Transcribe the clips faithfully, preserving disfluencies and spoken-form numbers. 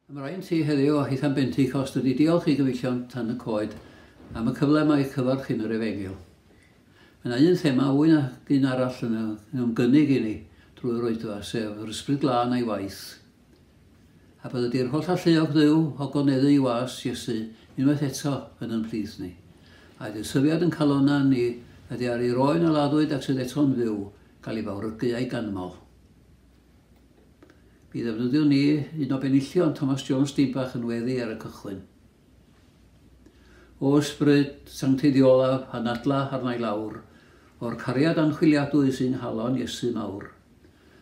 Ymlaen ti heddiw o hitha'n Bentecost ydy diolch i gyfeillion Tan y Coed am y cyfle mae cyfarch yn yr efengyl. Mae yna un thema fwy na un arall yn ymgynnig i ni drwy'r oedfa, sef yr Ysbryd Glân a'i waith. A bydde di'r holl alluog Dduw o goneddu i was Iesu unwaith eto yn yn plith ni. A ydy'r syfiad yn calona ni ydy ar ei roen a laddwyd ac sydd eto'n fyw gael ei fawrygu a'i ganmol. Mi ddefnyddiwn ni un o benillion Thomas Jones Dibach yn weddi ar y cychwyn. O ysbryd sancteiddiolaf anadla arna i lawr, o'r cariad anchwiliadwy sy'n halon Iesu mawr.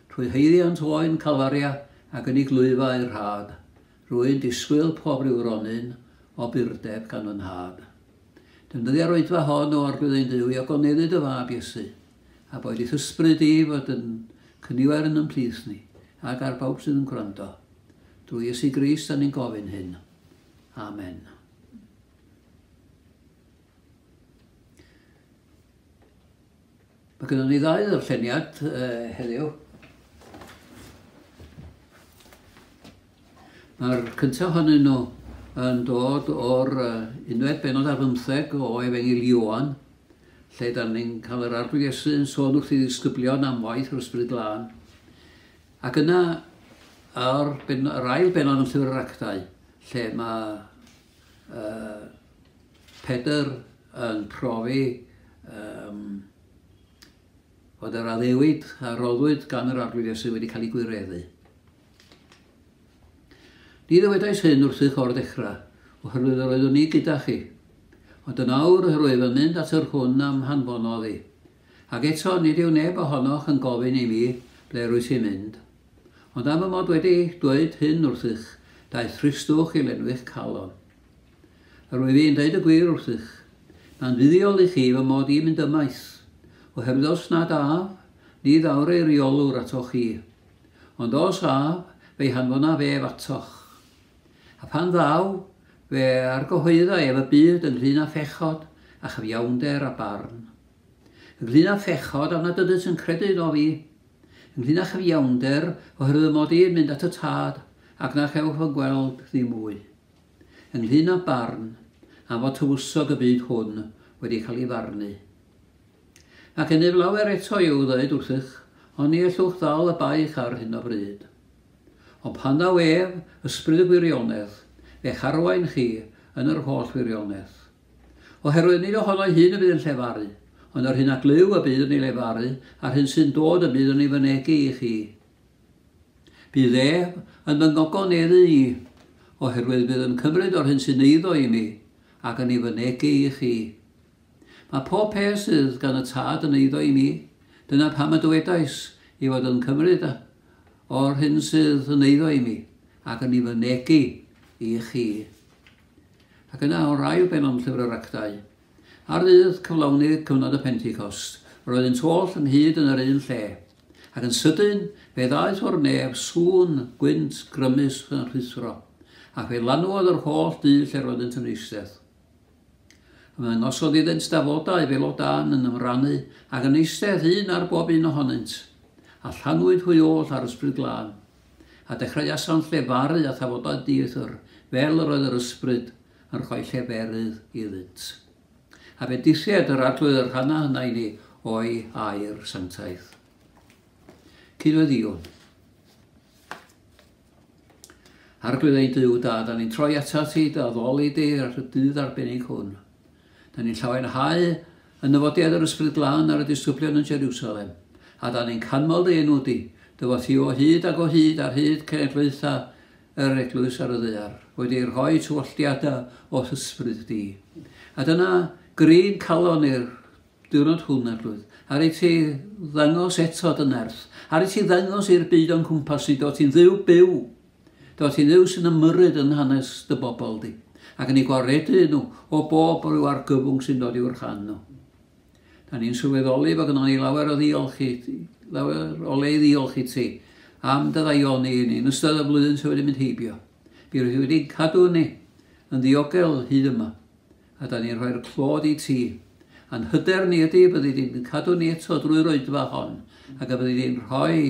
Trwy haeddiant oen Calfaria ac yn ei glwyfa i'r rhad, rwy'n disgwyl pob rhyw ronyn o burdeb gan fy nhad. Defnyddia'r oedfa hon o Arglwydd ein Duw i ogoneddu dy fab Iesu, a boed i'th ysbryd i fod yn cynifer yn ymhlith ni, ac ar bawb sydd yn gwrando. Drwy Iesu Grist, da ni'n gofyn hyn. Amen. Mae gennym ni ddau ddarlleniad uh, heddiw. Mae'r cyntaf ohonyn nhw yn dod o'r uh, unfed bennod ar bymtheg o Efengyl Ioan, lle da ni'n cael yr Arglwydd Iesu yn sôn wrth ei ddisgyblion am waith yr Ysbryd Glân. Ac yna, ar ben, yr ail bennod yn Llyfr yr Actau, lle mae uh, Pedr yn profi um, fod yr addewid a roddwyd gan yr Arglwydd Iesu wedi cael ei gwireddu. Ni ddywedais hyn wrthych o'r dechrau, oherwydd yr oeddwn i gyda chi. Ond yn awr yr wyf yn mynd at yr hwn am hanfonodd i. Ac eto nid yw neb ohonoch yn gofyn i mi ble rwyt ti'n mynd. Ond am y mod wedi dweud hyn wrthych, daeth thristwch i lenwi'ch calon. Yr wyf i'n dweud y gwir wrthych, mae'n fuddiol i chi fy mod i'n mynd ymaith, oherwydd os nad af, ni ddawr eiriolwr atoch chi. Ond os af, fe'i hanfonaf ef atoch. A pan ddaw, fe argyhoedda ef y byd ynglyn â phechod a chyfiawnder a barn. Ynglyn â phechod am nad ydynt yn credu yno fi. Ynglyn â chyfiawnder oherwydd mod i'n mynd at y tad ac na chewch fy gweld ddim mwy. Ynglyn â barn am fod tywysog y byd hwn wedi cael ei farnu. Ac gennyf lawer eto i'w ddweud wrthych, ond ni ellwch ddal y baich ar hyn o bryd. Ond pan ddaw ef, ysbryd y gwirionedd, fe'ch arwain chi yn yr holl wirionedd. Oherwydd nid ohono'i hun y bydd yn llefaru, ond yr hyn a glyw y bydd yn ei lefaru, a'r hyn sy'n dod y bydd yn ei fynegi i chi. Bydd ef yn fy ngogoneddu i, oherwydd bydd yn cymryd o'r hyn sy'n eiddo i mi, ac yn ei fynegi i chi. Mae pob peth sydd gan y tad yn eiddo i mi, dyna pam y dywedais i fod yn cymryd o'r hyn sydd yn eiddo i mi, ac yn ei fynegi i chi. Ac yna o'r ail bennod Llyfr yr Actau, ar ddydd cyflawni cyfnod y Pentecost, roeddynt oll ynghyd yn yr un lle, ac yn sydyn fe ddaeth o'r nef sŵn gwynt grymus yn rhuthro, ac fe lanwodd yr holl dŷ lle roeddynt yn eistedd. Ymddangosodd iddynt dafodau fel o dân yn ymrannu, ac yn eistedd un ar bob un ohonynt, a llanwyd hwy oll ar Ysbryd Glân, a dechreuasant lefaru a thafodau dieithr, fel yr oedd yr ysbryd yn rhoi lleferydd iddynt. A bendithied yr Arglwydd yr rhanna hynna i ni o'i air sanctaidd. Cydweddïwn. Arglwydd ein Duw da, da ni'n troi atat ti, dy addoli di ar y dydd arbennig hwn. Da ni'n llawenhau yn nyfodiad yr Ysbryd Glân ar y disgyblion yn Jerusalem, a da ni'n canmol dy enw di, dy fod ti o hyd ac o hyd ar hyd cenedlaethau yr eglwys ar y ddaear, wedi rhoi tywalltiadau o'th ysbryd di. A dyna gryn calon i'r diwrnod hwn, Arglwydd, ar i ti ddangos eto dy nerth, ar i ti ddangos i'r byd o'n cwmpas i, do ti'n ddiw byw, do ti'n ddiw sy'n ymyrryd yn hanes dy bobl di, ac yn ei gwaredu nhw o bob rhyw argyfwng sy'n dod i'w rhan nhw. Da ni'n sylweddoli bod gynnon ni lawer o ddiolch i ti, lawer o le i ddiolch i ti am dy ddaioni i ni yn ystod y flwyddyn sydd wedi mynd heibio. Mi rydw i wedi cadw ni yn ddiogel hyd yma, a da ni'n rhoi'r clod i ti. A'n hyder ni ydy byddi di'n cadw ni eto drwy'r oedfa hon, ac y byddi di'n rhoi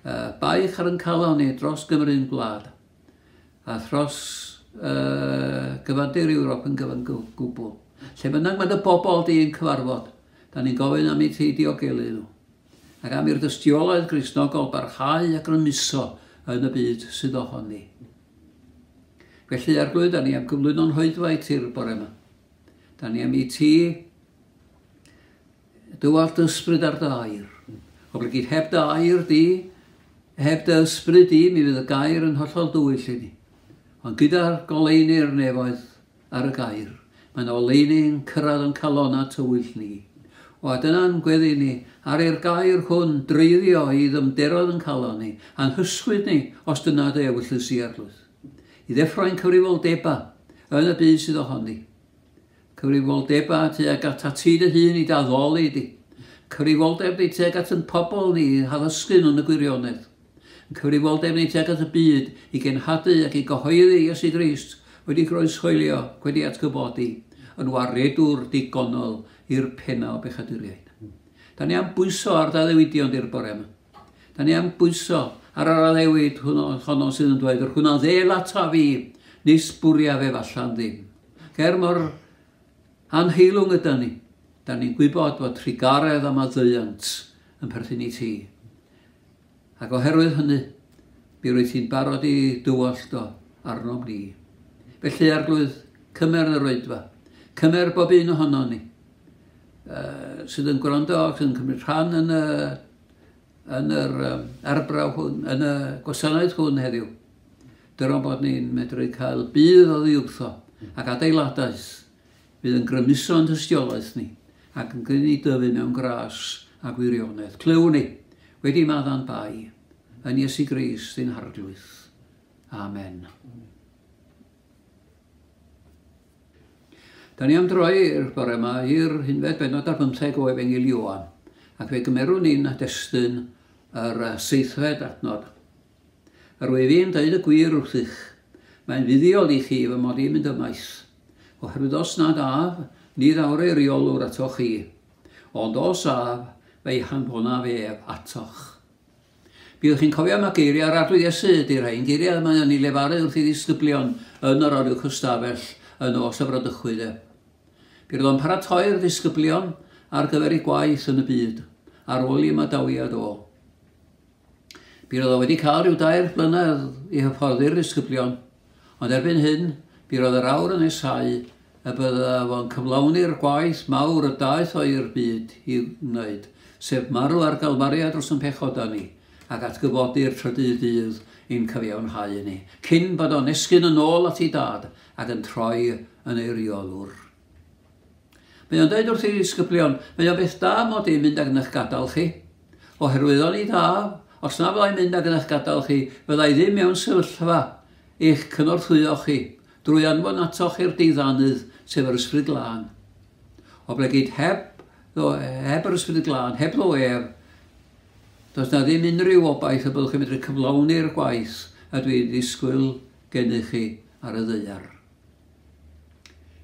uh, baich ar yn calon ni dros Gymru'n gwlad. a thros uh, gyfandir Ewrop yn gyfan gwbl. Lle bynnag mae dy bobl di yn cyfarfod, da ni'n gofyn am i ti diogelu nhw. Ac am i'r dystiolaeth Gristnogol barhau a grymuso yn y byd sydd ohoni. Felly, Arglwydd, da ni am gyflwyno'n hoedfa i ti'r bore yma. Da ni am i ti dywallt ysbryd ar dy air. Oblegid heb dy air di, heb dy ysbryd di, mi fydd y gair yn hollol dywyll i ni. Ond gyda'r goleuni'r nefoedd ar y gair, mae'n oleuni'n cyrraedd yn calona tywyll ni. O, a dyna'n gweddi ni, ar i'r gair hwn dreiddio i ddymderodd yn calon ni, a'n hysgwyd ni, os dyna dy ewyllys i, Arglwydd. I ddeffro'n cyfrifoldeba yn y byd sydd ohoni. Cyfrifoldeba tuag at ti dy hun i daddoli di. Cyfrifoldeb ni tuag at yn pobl ni, haddysgu nhw'n y gwirionedd. Cyfrifoldeb ni tuag at y byd i genhadu ac i gyhoeddi Iesu Grist wedi groeshoelio, wedi atgyfodi, yn waredwr digonol i'r penna o bechaduriaid. Da ni am bwyso ar ddaddewidion di'r bore yma. Da ni am bwyso ar yr addewid hwnnw, honno sydd yn dweud, yr hwnna ddel ata fi, nis bwriaf ef allan ddim. Ger mor anheilwng yda ni, da ni'n gwybod bod trugaredd a maddeuant yn perthyn i ti. Ac oherwydd hynny, mi rwyt ti'n barod i dywallt o arnom ni. Felly, Arglwydd, cymer yr oedfa. Cymer bob un ohono ni, uh, sydd yn gwrando ac yn cymryd rhan yn y, yn yr um, arbrawf hwn, yn y gwasanaeth hwn heddiw. Dyro bod ni'n medru cael budd oddi wrtho ac adeiladaeth fydd yn grymuso yn tystiolaeth ni ac yn gwneud ni dyfu mewn gras a gwirionedd. Clywn ni, wedi madda'n bai, yn Iesu Grist ein Harglwydd. Amen. Da ni am droi i'r bore yma i'r unfed bennod ar bymtheg o Efengyl Ioan, ac fe gymerwn ni'n destun yr seithfed adnod. Yr wyf i'n dweud y gwir wrthych, mae'n fuddiol i chi fy mod i'n mynd ymaith, oherwydd os nad af, ni ddawr ei reolwr atoch chi, ond os af, fe'i hanfonaf ef atoch. Byddwch chi'n cofio am y geiriau ar Arglwydd Iesu ydy'r rhain, geiriau mae o'n ei lefaru wrth ei ddisgyblion yn yr oruwch ystafell yn nos y bradychwyd e. Bydd o'n paratoi'r disgyblion ar gyfer ei gwaith yn y byd, ar ôl i ymadawiad o. Bydd o wedi cael rhyw dair blynedd i hyfforddi'r disgyblion, ond erbyn hyn, bydd oedd yr awr yn nesáu y bydda fo'n cyflawni'r gwaith mawr y daeth o i'r byd i wneud, sef marw ar Galfaria dros yn pechoda ni, ac atgyfodi'r trydydd dydd i'n cyfiawnhau ni, cyn bod o'n esgyn yn ôl at ei dad ac yn troi yn ei reolwr. Mae o'n dweud wrth ei ddisgyblion, mae o'n beth da mod i'n mynd ag yn eich gadael chi, oherwydd o'n i da, os na fyddai'n mynd ag yn eich gadael chi, fyddai ddim mewn sefyllfa eich cynorthwyo chi, drwy anfon atoch i'r deiddanydd, sef yr Ysbryd Glân. Oblegid heb, heb yr Ysbryd Glân, heb ddo ef, does na ddim unrhyw obaith y byddwch chi'n medru cyflawni'r gwaith a dwi'n ddisgwyl gennych chi ar y ddaear.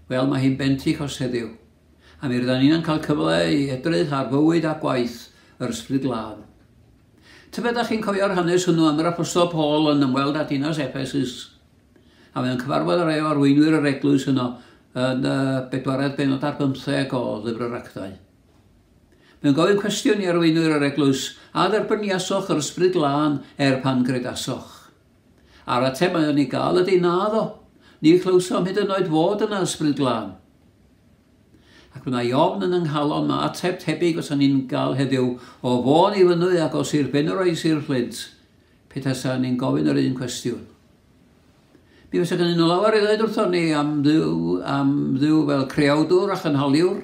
Wel, mae hi'n Bentecost heddiw, a mi rydan ni'n cael cyfle i edrych ar fywyd a gwaith yr Ysbryd Glân. Tybed ydych chi'n cofio'r hanes hwnnw am yr Apostol Paul yn ymweld â dinas Ephesus, a mae'n cyfarfod â rhai o arweinwyr yr eglwys yno yn y bedwaredd bennod ar bymtheg o Lyfr yr Actau. Mae'n gofyn cwestiwn i arweinwyr yr eglwys, a dderbyniasoch yr Ysbryd Glân er pan gredasoch? A'r ateb mae o'n ei gael ydy naddo. Ni chlywsom hyd yn oed fod yna Ysbryd Glân. Ac mae yna ofn yn yng nghalon, mae ateb tebyg os o'n ni'n gael heddiw o Fôn i Fynwy ac o Sir Benfro i Sir Fflint, petasa ni'n gofyn yr un cwestiwn. Mi fysa gennyn nhw lawer i ddweud wrthon ni am Dduw, am Dduw fel creawdwr a chynhaliwr,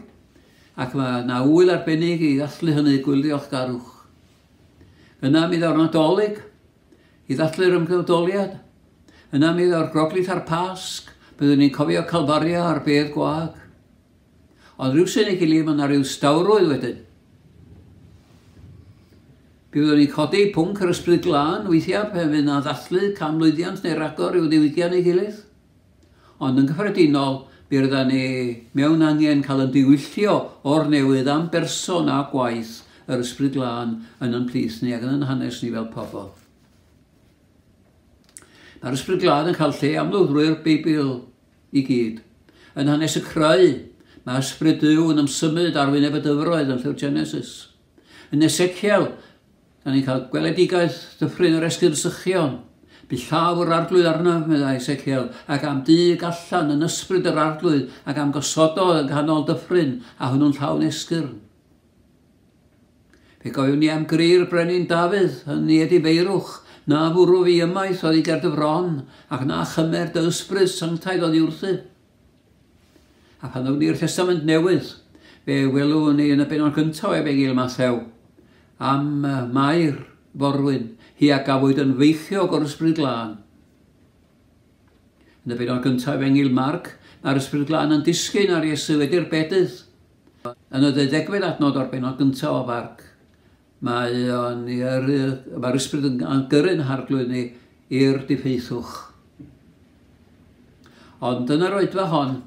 ac mae yna ŵyl arbennig i ddathlu hynny, gwyl ddiolchgarwch. Yna mi ddaw'r Nadolig i ddathlu'r ymgnawdoliad. Yna mi ddaw'r Groglith a'r Pasg, byddwn ni'n cofio Calfaria a'r bedd gwag. Ond rhywsut ei gilydd, mae yna rhyw stawrwydd wedyn. Byddwn ni'n codi pwnc yr Ysbryd Glân weithiau pan fydd yna ddathlu canmlwyddiant neu ragor i'w ddiwydiant ei gilydd. Ond yn gyffredinol, mi rydan ni mewn angen cael yn diwyllio o'r newydd am berson a gwaith yr Ysbryd Glân yn yn plith ni ac yn yn hanes ni fel pobl. Mae'r Ysbryd Glân yn cael lle amlwg drwy'r Beibl i gyd. Yn hanes y creu, mae Ysbryd Duw yn ymsymud ar wyneb y dyfroedd yn llyfr Genesis. Yn Ezekiel, da ni'n cael gweledigaeth dyffryn yr esgyrn sychion. Bu llaw yr Arglwydd arnaf, meddai Ezekiel, ac a'm dug allan yn ysbryd yr Arglwydd, ac a'm gosododd yn ganol dyffryn, a hwnnw'n llawn esgyrn. Fe gofiwn ni am gri'r brenin Dafydd yn ei edifeirwch, na fwrw fi ymaith oddi ger dy fron, ac na chymer dy ysbryd sanctaidd oddi wrthyf. A pan ddown ni'r Testament Newydd, fe welwn ni yn y bennod gyntaf o Efengyl Mathew am Mair forwyn, hi a gafwyd yn feichiog o'r Ysbryd Glân. Yn y bennod gyntaf Efengyl Marc, mae'r Ysbryd Glân yn disgyn ar Iesu wedi'r bedydd. Yn y ddeuddegfed adnod o'r bennod gyntaf o Farc, mae o'n, mae'r Ysbryd yn gyrru'n Harglwydd ni i'r diffeithwch. Ond yn yr oedfa hon,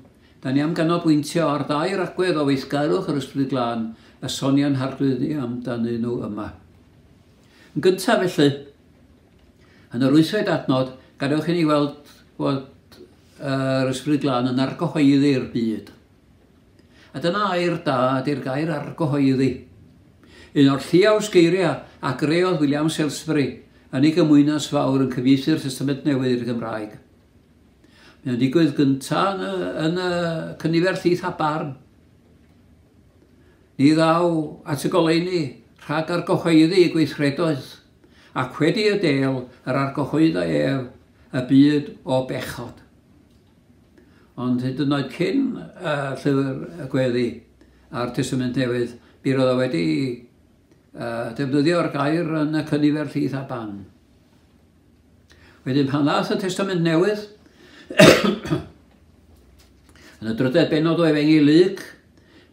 da ni am ganolbwyntio ar ddau agwedd o weithgarwch yr Ysbryd Glân y sonia'n Harglwydd ni amdanyn nhw yma. Yn gyntaf felly, yn yr wythfed adnod, gadewch i ni weld bod yr Ysbryd Glân yn argyhoeddi'r byd. A dyna air da ydy'r gair argyhoeddi. Un o'r lliaws geiriau a greodd William Salisbury yn ei gymwynas fawr yn cyfieithu'r Testament Newydd i'r Gymraeg. Mae o'n digwydd gyntaf yn y, yn y cynifer llith a barn. Ni ddaw at y goleuni rhag argyhoeddi ei gweithredoedd, ac wedi y del yr argyhoeddai ef y byd o bechod. Ond hyd yn oed cyn uh, llyfr y Gweddi a'r Testament Newydd, mi roedd o wedi uh, defnyddio'r gair yn y cynifer llith a barn. Wedyn pan ddaeth y Testament Newydd, yn y drydedd bennod o Efengyl Luc,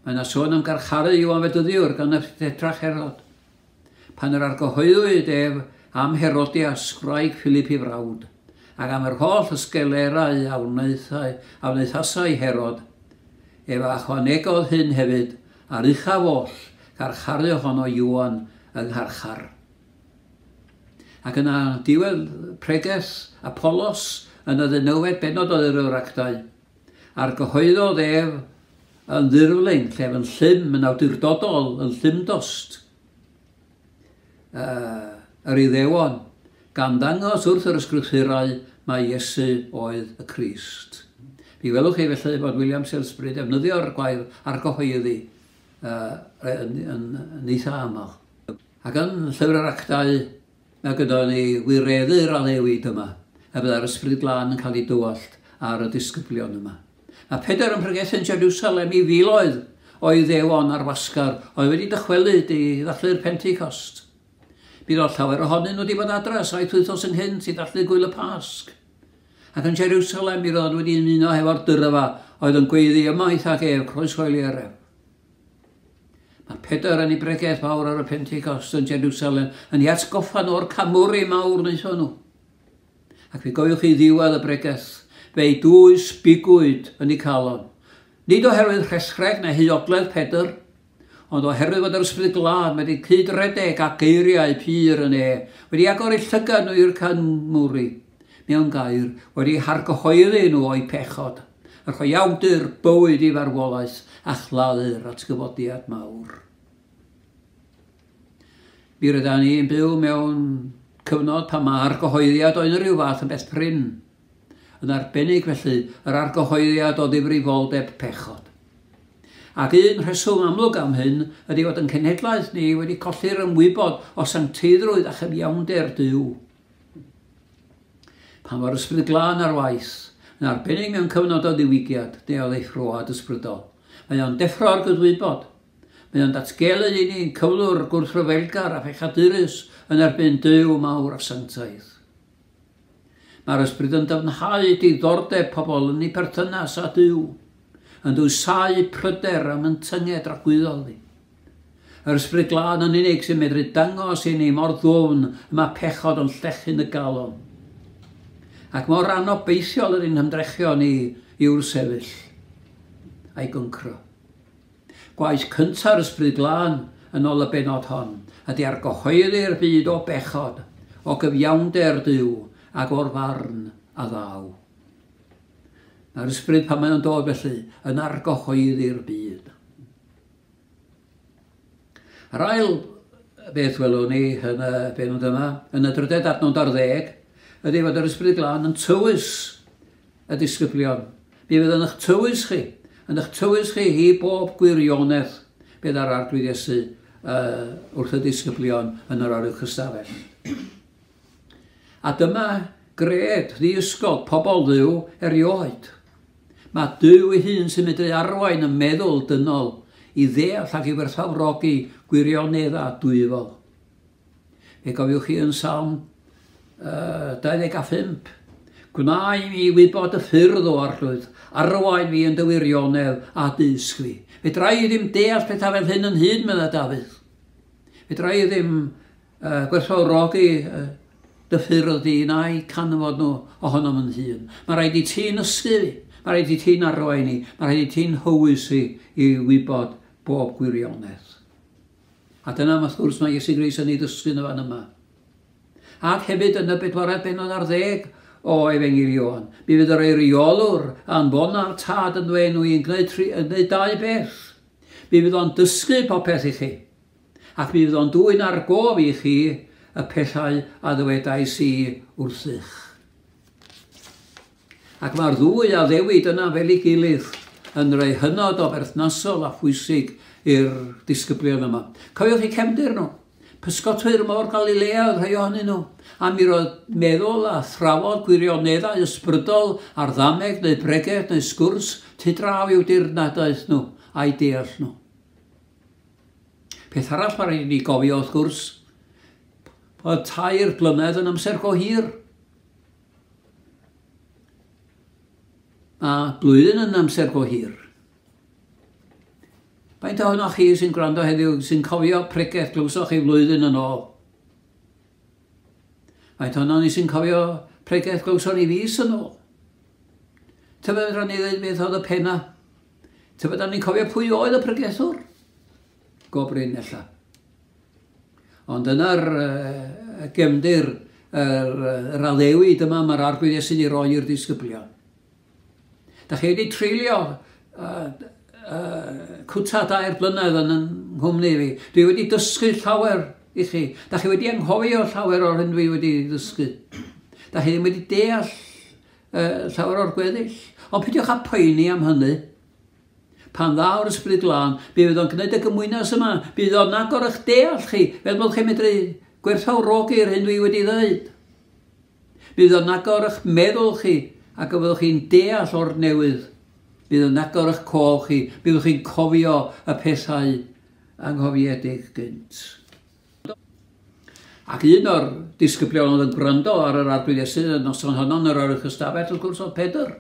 mae yna sôn am garcharu Ioan Fedyddiwr gan y tetrarch Herod. Pan yr argyhoeddwyd ef am Herodias, gwraig Philip ei frawd, ac am yr holl ysgelerau a wnaethai, a wnaethasai Herod, ef a ychwanegodd hyn hefyd, a'r uchaf oll, carcharu ohono Ioan yng ngharchar. Ac yna diwedd pregeth Apolos yn y ddeunawfed bennod o Lyfr yr Actau, argyhoeddodd ef yn ddirfling, llef yn llym, yn awdurdodol, yn llymdost, uh, yr Iddewon, gan ddangos wrth yr ysgrythurau mai Iesu oedd y Crist. Mi welwch chi felly bod William Salisbury defnyddio'r gwair argyhoeddi uh, yn, yn, yn eitha aml. Ac yn Llyfr yr Actau, mae gyda ni wireddu'r addewid yma, a byddai'r Ysbryd Glân yn cael ei dywallt ar y disgyblion yma. Mae Pedr yn pregethu yn Jerusalem i filoedd o Iddewon ar wasgar oedd wedi dychwelyd i ddathlu'r Pentecost. Bydd oedd llawer ohonyn nhw wedi bod adra saith wythnos ynghynt i ddathlu gwyl y Pasg. Ac yn Jerusalem mi roedd wedi ymuno hefo'r dyrfa oedd yn gweiddi ymaith ac ef, croeshoelier ef. Mae Pedr yn ei bregeth fawr ar y Pentecost yn Jerusalem yn ei atgoffa nhw o'r camwri mawr wnaethon nhw. Ac fe gofiwch chi ddiwedd y bregeth, fe'i dwys bigwyd yn ei calon. Nid oherwydd rhesreg neu huodledd Pedr, ond oherwydd fod yr Ysbryd Glân wedi cydredeg a geiriau pur yn e, wedi agor eu llygad nhw i'r canmwri, mewn gair, wedi hargyhoeddi nhw o'u pechod, a rhoi awdur bywyd i farwolaeth a chladdu'r atgyfodiad mawr. Mi rydan ni'n byw mewn cyfnod pan mae argyhoeddiad o unrhyw fath yn beth prin. Yn arbennig felly, yr argyhoeddiad o ddifrifoldeb pechod. Ac un rheswm amlwg am hyn ydy fod yn cenhedlaeth ni wedi colli'r ymwybod o sancteiddrwydd a chyfiawnder Duw. Pan fo'r Ysbryd Glân ar waith, yn arbennig mewn cyfnod o ddiwygiad neu o ddeffroad ysbrydol, mae o'n deffro'r gydwybod. Mae o'n datgelu i ni'n cyflwr gwrthryfelgar a phechadurus yn erbyn Duw mawr a sanctaidd. Mae'r Ysbryd yn dyfnhau diddordeb pobl yn ei perthynas â Duw, yn dwysau pryder am yn tynged dragwyddol ni. Yr Ysbryd Glân yn unig sy'n medru dangos i ni mor ddwfn y mae pechod yn llechu'n y galon. Ac mor anobeithiol yr un hymdrechion ni yw'r sefyll a'i gyncro. Gwaith cynta'r Ysbryd Glân yn ôl y bennod hon ydy argyhoeddi'r byd o bechod, o gyfiawnder Duw ac o'r farn a ddaw. Mae'r ysbryd pan mae o'n dod felly yn argyhoeddi'r byd. Yr ail beth welwn ni yn y bennod yma, yn y drydedd adnod ar ddeg, ydy fod yr Ysbryd Glân yn tywys y disgyblion. Mi fydd yn eich tywys chi, yn eich tywys chi i bob gwirionedd bydd ar Arglwydd Iesu uh, wrth y disgyblion yn yr oruwch ystafell. A dyma gred ddiysgog pobl Dduw erioed. Mae Duw ei hun sy'n medru arwain y meddwl dynol i ddeall ac i werthfawrogi gwirioneddau dwyfol. Fe gofiwch chi yn Salm uh, dau ddeg a phump. Gwna i mi wybod y ffyrdd o Arglwydd, arwain fi yn dy wirionedd a dysg fi. Fedra i ddim deall pethau fel hyn yn hun, medda Dafydd. Fedra i ddim uh, gwerthfawrogi uh, dy ffyrdd di na'i canfod nhw ohonom yn hun. Mae rhaid i ti'n ysgu fi, mae rhaid i ti'n arwain i, mae rhaid i ti'n hywys i i wybod bob gwirionedd. A dyna, wrth gwrs, mae Iesu Grist yn ei ddysgu yn y fan yma. Ac hefyd yn y bedwaredd bennod ar ddeg o Efengyl Ioan, mi fydd yr eiriolwr anfona'r Tad yn dweud nhw i'n gwneud, tri, yn gwneud dau beth. Mi fydd o'n dysgu popeth i chi, ac mi fydd o'n dwyn ar gof i chi y pethau a ddywedais i wrthych. Ac mae'r ddwy addewid yna fel ei gilydd yn rhai hynod o berthnasol a phwysig i'r disgyblion yma. Cofiwch eu cefndir nhw. Pysgotwyr môr Galilea oedd rhai ohonyn nhw. A mi roedd meddwl a thrafod gwirioneddau ysbrydol ar ddameg neu bregeth neu sgwrs tu draw i'w dirnadaeth nhw a'i deall nhw. Peth arall mae rhaid i ni gofio wrth gwrs, bod tair blynedd yn amser go hir. A blwyddyn yn amser go hir. Faint ohonoch chi sy'n gwrando heddiw sy'n cofio pregeth glywsoch chi flwyddyn yn ôl? Faint ohonon ni sy'n cofio pregeth glywson ni fis yn ôl? Tybed fedrwn ni ddweud beth oedd y penna? Tybed ni'n cofio pwy oedd y pregethwr? Go brin ella. Ond yna'r uh, gefndir, yr, yr addewid yma mae'r Arglwydd Iesu'n ei roi i'r disgyblion. Da chi wedi treulio uh, uh, cwta dair blynedd yn yng nghwmni fi. Dwi wedi dysgu llawer i chi. Da chi wedi anghofio llawer o'r hyn dwi wedi dysgu. Da chi ddim wedi deall uh, llawer o'r gweddill. Ond peidiwch â poeni am hynny. Pan ddaw'r Ysbryd Glân, mi fydd o'n gwneud y gymwynas yma. Bydd o'n agor eich deall chi, fel bod chi'n medru gwerthfawrogi'r hyn dwi wedi dweud. Bydd o'n agor eich meddwl chi, ac y byddwch chi'n deall o'r newydd. Bydd o'n agor eich cof chi, byddwch chi'n cofio y pethau anghofiedig gynt. Ac un o'r disgyblion oedd yn gwrando ar yr Arglwydd Iesu y noson honno yn yr oruwch ystafell, wrth gwrs, oedd Pedr.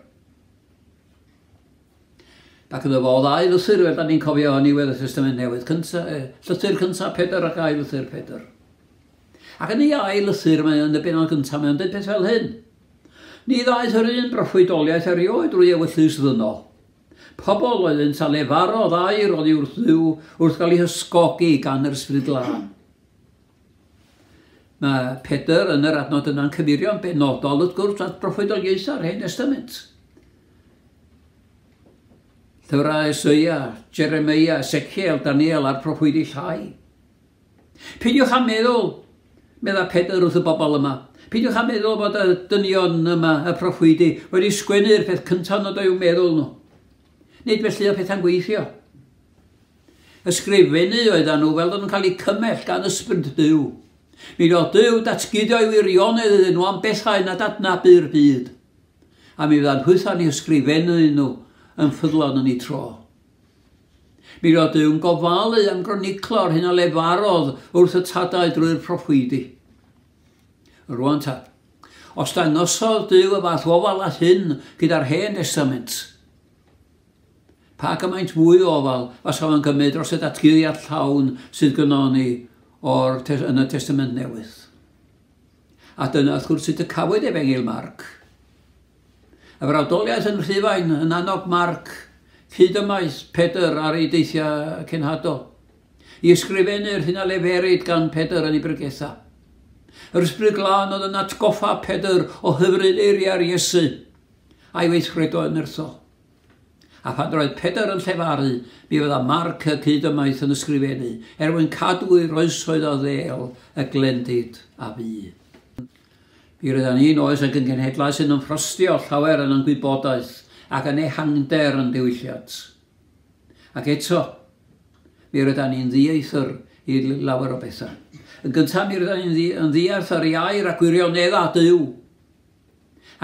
Ac iddo fo ddau lythyr, fel da ni'n cofio yn niwedd y Testament Newydd, cynta, eh, llythyr cyntaf Pedr ac ail lythyr Pedr. Ac yn ei ail lythyr, mae yn y bennod gyntaf, mae'n dweud peth fel hyn. Ni ddaeth yr un broffwydoliaeth erioed drwy ewyllys ddynol. Pobl oeddynt a lefarodd air oddi wrth Dduw wrth gael eu hysgogi gan yr Ysbryd Glân. Mae Pedr yn yr adnod yna'n cyfeirio'n benodol wrth gwrs at broffwydoliaethau'r Hen Testament. Llyfrau Eseia, Jeremia, Ezekiel, Daniel a'r proffwydi llai. Peidiwch â meddwl, medda Pedr wrth y bobl yma, peidiwch â meddwl bod y dynion yma, y proffwydi, wedi sgwennu'r peth cyntaf nad o'u meddwl nhw. Nid felly oedd pethau'n gweithio. Ysgrifennu oedden nhw fel oedden nhw'n cael eu cymell gan ysbryd Duw. Mi roedd Duw datguddio ei wirionedd iddyn nhw am bethau nad adnabu'r byd. A mi fyddan hwytha'n eu ysgrifennu nhw yn ffyddlon yn ei tro. Mi roedd Duw'n gofalu am groniclo'r hyn a lefarodd wrth y tadau drwy'r proffwydi. Rwan ta, os dangosodd Duw y fath ofal â hyn gyda'r Hen Testament, pa gymaint mwy o ofal fasa fo'n gymryd dros y datguddiad llawn sydd gynnon ni o'r yn y Testament Newydd. A dyna wrth gwrs sut y cafwyd Efengyl Marc. Y frawdoliaeth yn Rhufain yn annog Marc hyd ymaith Pedr ar ei deithiau cenhadol, i ysgrifennu'r hyn a leferid gan Pedr yn ei bregethau. Yr Ysbryd Glân oedd yn atgoffa Pedr o hyfryd eiriau'r Iesu a'i weithredoedd nerthol. A phan roedd Pedr yn llefaru, mi fydda Marc y cydymaith yn ysgrifennu, er mwyn cadw i'r oesoedd o ddêl y glendid a fu. Mi rydan ni'n oes ac yn genhedlaeth sy'n ymffrostio llawer yn ein gwybodaeth ac yn ehangder yn diwylliant. Ac eto, mi rydan ni'n ddieithr i lawer o bethau. Yn gyntaf, mi rydan ni'n yn ddiarth ar ei air a gwirioneddau Duw.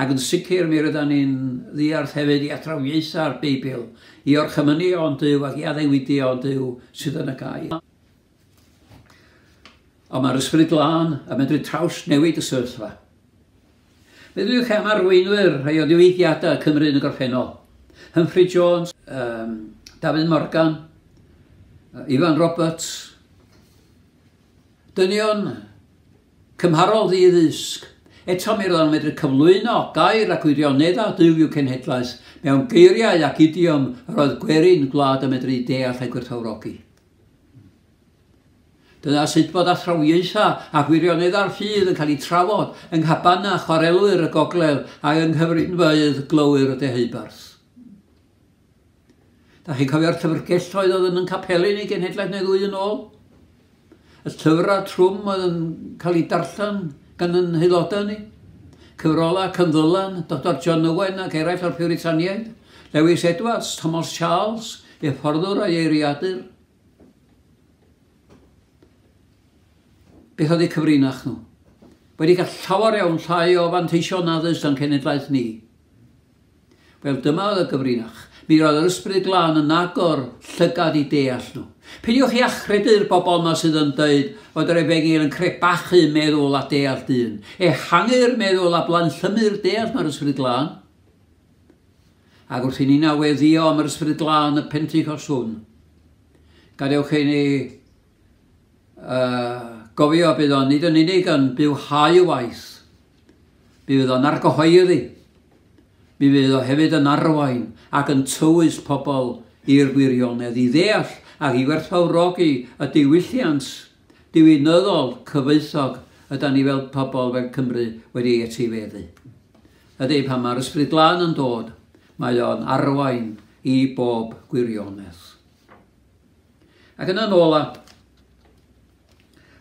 Ac yn sicr mi rydan ni'n ddiarth hefyd i athrawiaethau'r Beibl, i orchymynion Duw ac i addewidion Duw sydd yn y gair. Ond mae'r Ysbryd Glân yn medru trawsnewid y sefyllfa. Meddyliwch am arweinwyr rhai o ddiwygiadau Cymru yn y gorffennol. Humphrey Jones, um, Dafydd Morgan, Ifan Roberts. Dynion cymharol ddi-ddysg. Eto mi roedden nhw'n medru cyflwyno gair ac wirioneddau Duw i'w cenhedlaeth mewn geiriau ac idiom yr oedd gwerin gwlad yn medru deall a gwerthfawrogi. Dyna sut bod athrawiaethau a gwirioneddau'r ffydd yn cael eu trafod yng nghabanau chwarelwyr y gogledd ac yng nghyfrinfeydd glowyr y deheubarth. Da chi'n cofio'r llyfrgelloedd oedd yn capeli ni genhedlaeth neu ddwy yn ôl? Y llyfrau trwm oedd yn cael eu darllen gan yn haelodau ni. Cyfrolau Cynddylan, Doctor John Owen ac eraill o'r Puritaniaid, Lewis Edwards, Thomas Charles, ei fforddwr a'i eiriadur. Beth oedd eu cyfrinach nhw? Wedi cael llawer iawn llai o fanteision addysg na'n cenedlaeth ni. Wel, dyma oedd y gyfrinach. Mi roedd yr Ysbryd Glân yn agor llygad i deall nhw. Peidiwch chi achredu'r bobl yma sydd yn dweud fod yr efengyl yn crebachu meddwl a deall dyn. Ehangu'r meddwl a blanllymu'r deall mae'r Ysbryd Glân. Ac wrth i ni naweddio am yr Ysbryd Glân y Pentecost hwn, gadewch i ni uh, gofio bydd o'n nid yn unig yn bywhau y waith, mi fydd o'n argyhoeddi, mi fydd o hefyd yn arwain ac yn tywys pobl i'r gwirionedd, i ddeall ac i werthfawrogi y diwylliant diwinyddol cyfoethog ydan ni fel pobl fel Cymru wedi etifeddu. Ydy, pan mae'r Ysbryd Glân yn dod, mae o'n arwain i bob gwirionedd. Ac yna'n ola,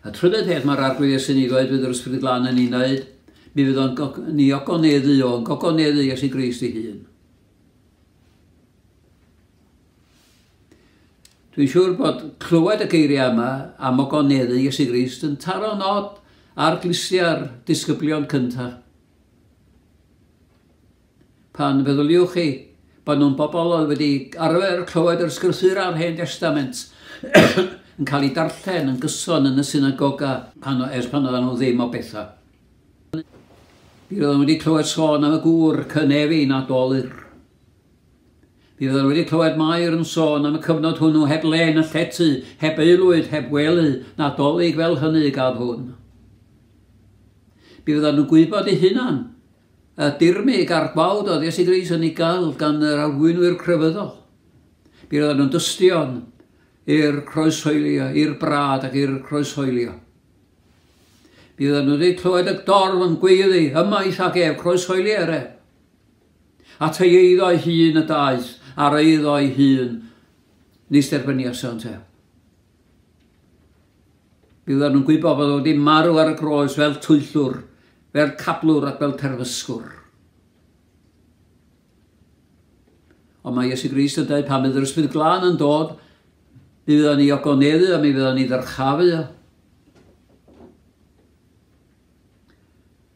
y trydydd peth mae'r Arglwydd Iesu'n ei ddweud fydd yr Ysbryd Glân yn ei wneud, mi fydd o'n ni ogoneddu o'n gogoneddu Iesu Grist ei hun. Dwi'n siŵr bod clywed y geiriau yma am ogoneddu Iesu Grist yn taro nod ar glustiau'r disgyblion cyntaf. Pan feddyliwch chi bod nhw'n bobl oedd wedi arfer clywed yr ysgrythurau a'r Hen Testament yn cael eu darllen yn gyson yn y synagoga pan, ers pan oedden nhw ddim o bethau. Mi oedden nhw wedi clywed sôn am y gŵr cynefin a dolur. Mi oedden nhw wedi clywed Mair yn sôn am y cyfnod hwnnw heb le na llety, heb aelwyd, heb wely, Nadolig fel hynny gadd hwn. Mi oedden nhw'n gwybod eu hunan y dirmyg a'r gwawd oedd Iesu Grist yn ei gael gan yr arweinwyr crefyddol. Mi oedden nhw'n dystion i'r croeshoelio, i'r brad ac i'r croeshoelio. Mi oedden nhw wedi clywed y dorf yn gweiddi, ymaith ac ef, croeshoelio er ef. At ei eiddo ei hun y daeth, ar eiddo ei hun, nis derbyniasant ef. Mi oedden nhw'n gwybod bod wedi marw ar y groes fel twyllwr, fel cablwr ac fel terfysgwr. Ond mae Iesu Grist yn dweud pan fydd yr Ysbryd Glân yn dod, mi fydd o'n ei ogoneddu a mi fydd o'n ei ddyrchafu.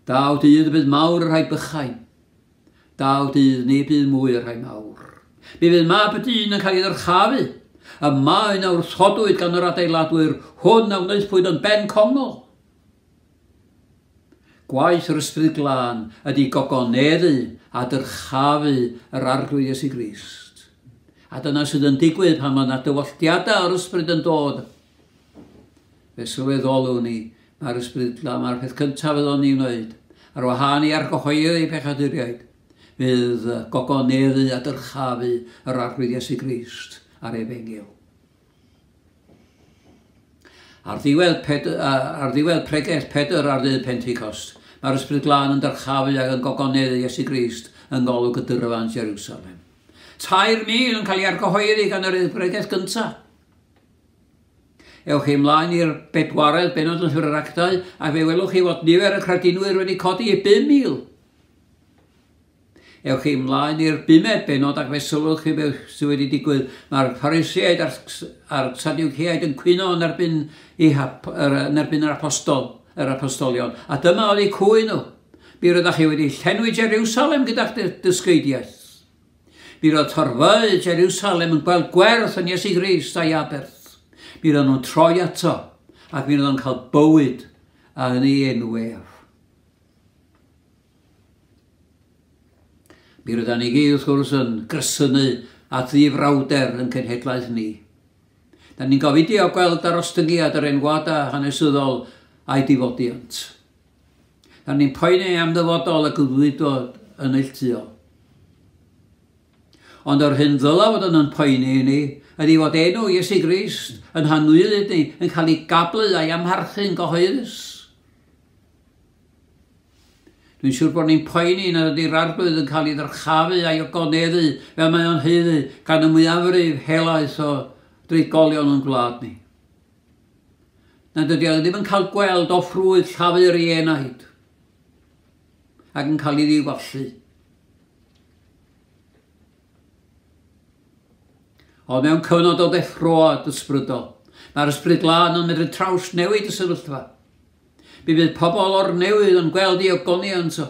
Daw dydd y bydd mawr y rhai bychain. Daw dydd ni bydd mwy y rhai mawr. Mi fydd mab y dyn yn cael ei ddyrchafu. Y maen a wrthodwyd gan yr adeiladwyr, hwn a wnaethpwyd yn ben congol. Gwaith yr Ysbryd Glân ydy gogoneddu a dyrchafu yr Arglwydd Iesu Grist. A dyna sydd yn digwydd pan mae yna dywylltiadau o'r Ysbryd yn dod. Fe sylweddolwn ni, mae'r Ysbryd Glân, mae'r peth cyntaf fydd o'n ei wneud, ar wahân i argyhoeddi pechaduriaid, fydd gogoneddu a dyrchafu yr Arglwydd Iesu Grist a'r Efengyl. Ar ddiwedd, Pedr, ar ddiwedd pregeth Pedr ar ddydd Pentecost, mae'r Ysbryd Glân yn dyrchafu ac yn gogoneddu Iesu Grist yng ngolwg y dyrfa yn Jerusalem. Tair mil yn cael ei argyhoeddi gan yr bregeth gyntaf. Ewch chi ymlaen i'r bedwaredd bennod yn Llyfr yr Actau, a fe welwch chi fod nifer y credinwyr wedi codi i bum mil. Ewch chi ymlaen i'r bumed bennod ac fe sylwch chi beth sydd wedi digwydd. Mae'r Phariseaid a'r, a'r Sadwceaid yn cwyno yn erbyn, i, yn erbyn yr apostol, yr apostolion. A dyma oedd eu cwyn nhw. Mi roeddech chi wedi llenwi Jerusalem gyda'ch dysgeidiaeth. Mi roedd torfeydd Jerusalem yn gweld gwerth yn Iesu Grist a'i aberth. Mi roedd nhw'n troi ato ac mi roedd nhw'n cael bywyd yn ei enw ef. Mi rydan ni gyd wrth gwrs yn gresynu at ddifrawder yn cenhedlaeth ni. Da ni'n gofidio gweld darostyngiad yr enwadau hanesyddol a'i difodiant. Da ni'n poeni am ddyfodol y gydwydod yn neilltuol. Ond yr hyn ddyla fod yn poeni i ni ydy fod enw Iesu Grist yn hanwylyd ni, yn cael ei gablu a'i amharchu'n gyhoeddus. Dwi'n siŵr bod ni'n poeni nad ydy'r Arglwydd yn cael ei ddyrchafu a'i ogoneddu fel mae o'n haeddu gan y mwyafrif helaeth o drigolion yn gwlad ni. Nad ydy o ddim yn cael gweld o ffrwyth llafur ei enaid ac yn cael ei ddiwallu. Ond mewn cyfnod o ddeffroad ysbrydol, mae'r Ysbryd Glân yn medru trawsnewid y sefyllfa. Mi fydd pobl o'r newydd yn gweld ei ogoniant o,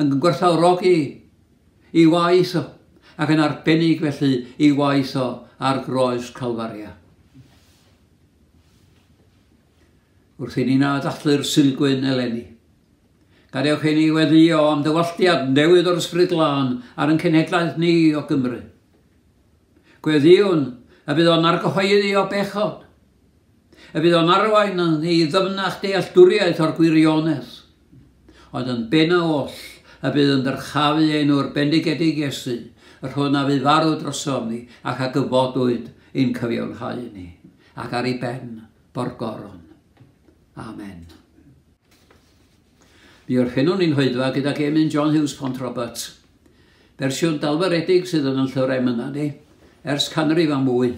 yn gwerthfawrogi ei waith o, ac yn arbennig felly ei waith o ar groes Calfaria. Wrth i ni na ddathlu'r Sulgwyn eleni, gadewch i ni weddïo am dywalltiad newydd o'r Ysbryd Glân ar ein cenhedlaeth ni o Gymru. Gweddïwn y bydd o'n argyhoeddi o bechod, y bydd o'n arwain ni i ddyfnach dealltwriaeth o'r gwirionedd, ond yn benna oll y bydd yn dyrchafu enw'r bendigedig Iesu, yr hwn a fu farw drosom ni ac a gyfodwyd i'n cyfiawnhau ni, ac ar ei ben bo'r goron. Amen. Mi orffennwn ni'n hoedfa gydag emyn John Hughes Pontrobert, fersiwn dalfyredig sydd yn y llyfr emynau ni, ers canrif a mwy.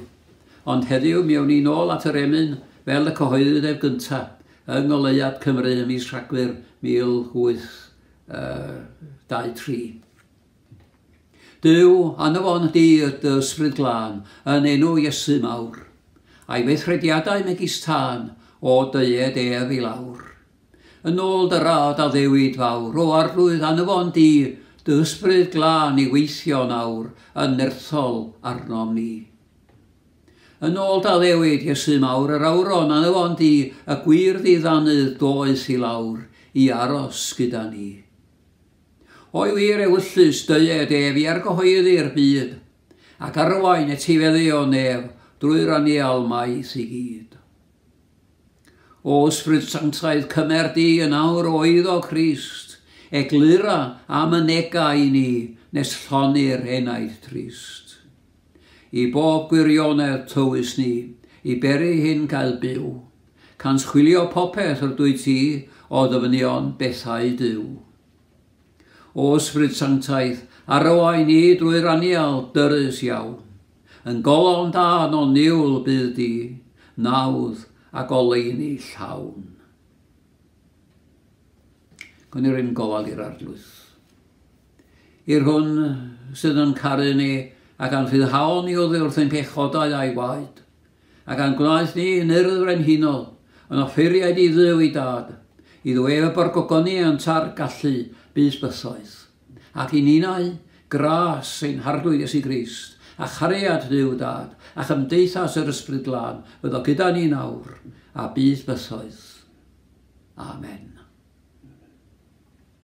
Ond heddiw mi awn ni nôl at yr emyn fel y cyhoeddwyd ef gyntaf yng Ngoleuad Cymru ym mis Rhagfyr mil wyth dau tri. Duw, anfon di dy Ysbryd Glân yn enw Iesu mawr, a'i weithrediadau megis tân o dyed ef i lawr. Yn ôl dy rad addewid fawr, o Arglwydd anfon di dy Ysbryd Glân i weithio nawr yn nerthol arnom ni. Yn ôl dy addewid Iesu mawr, yr awron anfon di y gwir ddiddanydd doeth i lawr i aros gyda ni. O'i wir ewyllys dyed ef i argyhoeddi'r byd, ac arwain etifeddu o nef drwy'r anial maith i gyd. O Ysbryd Sanctaidd, cymer di yn awr o eiddo Crist, eglura a mynega i ni nes llonni'r enaid trist. I bob gwirionedd tywys ni, i beri hyn gael byw, cans chwilio popeth yr dwyt ti o ddyfnion bethau Duw. O Ysbryd Sanctaidd, arwain ni drwy'r anial dyrys iawn, yn golofn dân o niwl bydd di, nawdd a goleuni llawn. Gwn i'r un gofal i'r Arglwydd. I'r hwn sydd yn caru ni ac a'n rhyddhaol ni oddi wrth ein pechodau a'i waed, ac a'n gwnaeth ni yn urdd frenhinol, yn offeiriaid i Dduw ei dad, i ddweud y borgogoniant a'r gallu bys bythoedd, ac i ninau gras ein Harglwydd Iesu Grist, a chariad Duw Dad, a chymdeithas yr Ysbryd Glân, fyddo gyda ni nawr, a bydd bythoedd. Amen.